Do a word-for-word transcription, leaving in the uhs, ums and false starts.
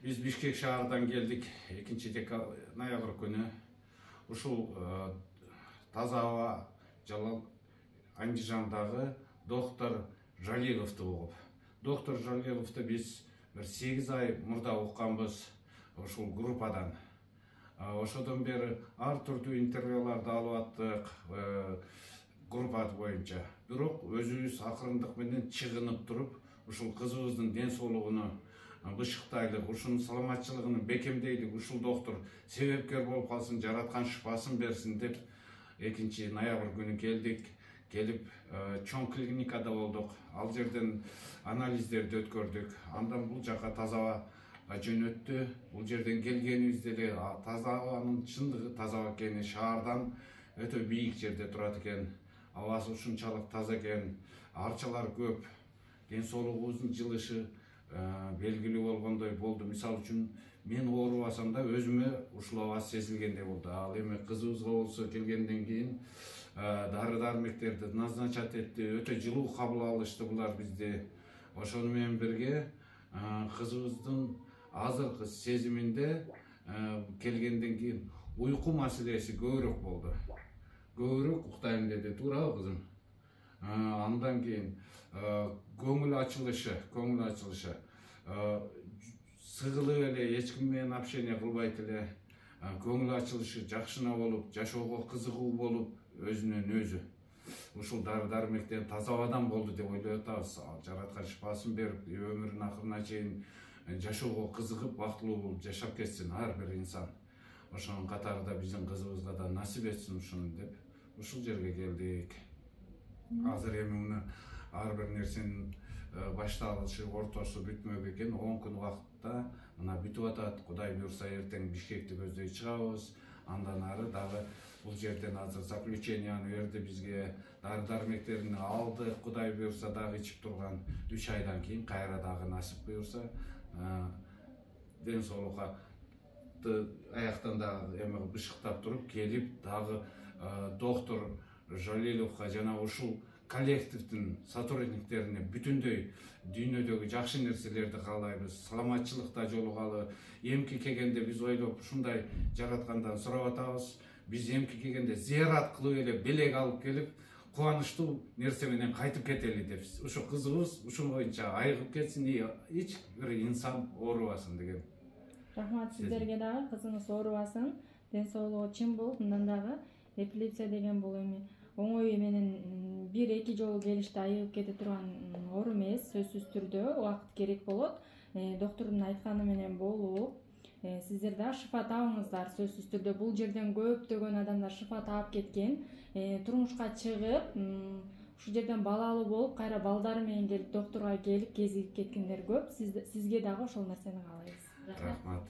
Биз Бишкек шаарынан келдик экинчи ноябрь күнү. Ушул таза аба Жалал Андижандагы доктор Жалиловду угуп. Доктор Жалиловду биз бир сегиз ай мурда укканбыз ушул группадан. Ошодон бери ар түрдүү интервьюларды алып аттык группа боюнча. Бирок өзүбүз акырындык менен чыгынып туруп, ушул кызыбыздын ден соолугуну бышыктайлык, ушунун саламатчылыгын бекемдейлик, ушул доктор себепкер болуп калсын, жараткан шыпасын берсин деп экинчи ноябрь күнү келдик. Келип чоң клиникада болдук. Ал жерден анализдерди өткөрдүк. Андан бул жака таза аба жөнөттү. Бул жерден келгенибизде эле таза абанын чындыгы таза аба экени, шаардан өтө бийик жерде турат экен. Абасы ушунчалык таза экен, арчалар көп, ден соолугубуздун жылышы белгилүү болгондой болду. Мисалы үчүн мен оорубасам да өзүмө ушул аба сезилгендей болду. Ал эми кызыбызга болсо келгенден кийин дары дармектерди назначать этти, өтө жылуу кабыл алышты булар бизди. Ошону менен бирге кызыбыздын азыркы сезиминде келгенден кийин уйку маселеси көбүрөөк болду. Көбүрөөк уктайм деди, туурабы кызым? Андан кийин көңүл ачылышы, көңүл ачылышы. Сыгылып эле, эч ким менен общение кылбайт эле. Көңүл ачылышы жакшына болуп, жашоого кызыгуу болуп, өзүнөн өзү. Ушул дары дармектен таза абадан болду деп ойлоп атабыз. Жараткан шыпасын берип, өмүрүнүн акырына чейин жашоого кызыгып, бактылуу болуп жашап кетсин ар бир инсан. Ошонун катарында биздин кызыбызга да насип этсин ушуну деп ушул жерге келдик. Азыр эми муну ар бир нерсенин башталышы, ортосу бүтмөк экен. он күн убакытта мына бүтүп атат. Кудай буюрса эртең Бишкекти көздөй чыгабыз. Андан ары дагы бул жерден азыр заключенияны берди бизге, дары дармектерин алды. Кудай буюрса дагы ичип турган үч айдан кийин кайра дагы насип буюрса ден соолукка аяктан дагы эме бышыктап туруп келип дагы доктор Жалиловго жана ушул коллективдин сотрудниктерине бүтүндөй дүйнөдөгү жакшы нерселерди каалайбыз. Саламатчылыкта жолугалы. Эмки келгенде биз ойлоп ушундай жараткандан сурап атабыз. Биз эмки келгенде зыярат кылып эле белек алып келип, кубанычтуу нерсе менен кайтып кетели деп. Ушу кызыбыз ушул боюнча айыгып кетсин, эч бир инсан оорубасын деген. Рахмат сиздерге дагы, кызыңыз оорубасын, ден соолугу чың болуп, мындан дагы эпилепсия деген бул эми оңой менен бир эки жолу келиште айыгып кете турган оору эмес, сөзсүз түрдө убакыт керек болот. Доктордун айтканы менен болуп, сиздер да шыфа табыңыздар сөзсүз түрдө. Бул жерден көптөгөн адамдар шыфа таап кеткен, турмушка чыгып, ушул жерден балалуу болуп, кайра балдары менен келип докторго келип кезигип кеткендер көп. Сизге дагы ошол нерсени каалайбыз. Рахмат.